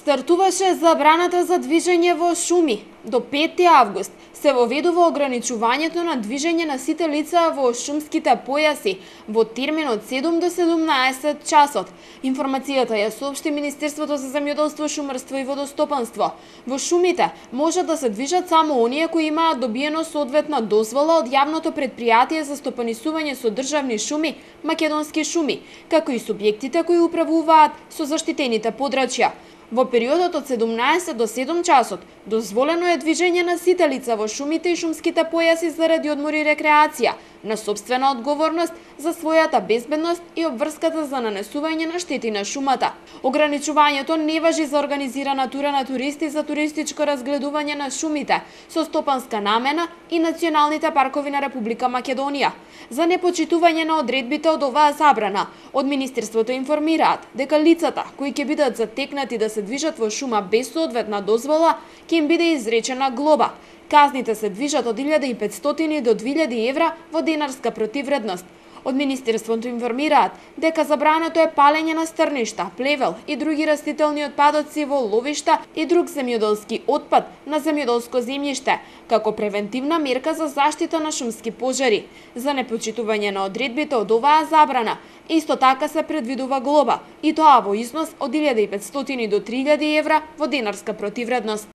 Стартуваше забраната за движење во шуми. До 5 август се воведува ограничувањето на движење на сите лица во шумските појаси во термин од 7 до 17 часот. Информацијата ја соопшти Министерството за земјоделство, шумарство и водостопанство. Во шумите можат да се движат само оние кои имаат добиено соодветна дозвола од јавното предпријатие за стопанисување со државни шуми, Македонски шуми, како и субјектите кои управуваат со заштитените подрачја. Во периодот од 17 до 7 часот дозволено е движење на сите лица во шумите и шумските појаси заради одмор и рекреација, на сопствена одговорност за својата безбедност и обврската за нанесување на штети на шумата. Ограничувањето не важи за организирана тура на туристи за туристичко разгледување на шумите со стопанска намена и националните паркови на Република Македонија. За непочитување на одредбите од оваа забрана, од Министерството информираат дека лицата кои ќе бидат затекнати да се движат во шума без соодветна дозвола, ќе им биде изречена глоба. Казните се движат од 1500 до 2000 евра во денарска противредност. Од Министерството информираат дека забрането е палење на стрништа, плевел и други растителни отпадоци во ловишта и друг земјоделски отпад на земјоделско земјиште, како превентивна мерка за заштита на шумски пожари. За непочитување на одредбите од оваа забрана, исто така се предвидува глоба, и тоа во износ од 1500 до 3000 евра во денарска противредност.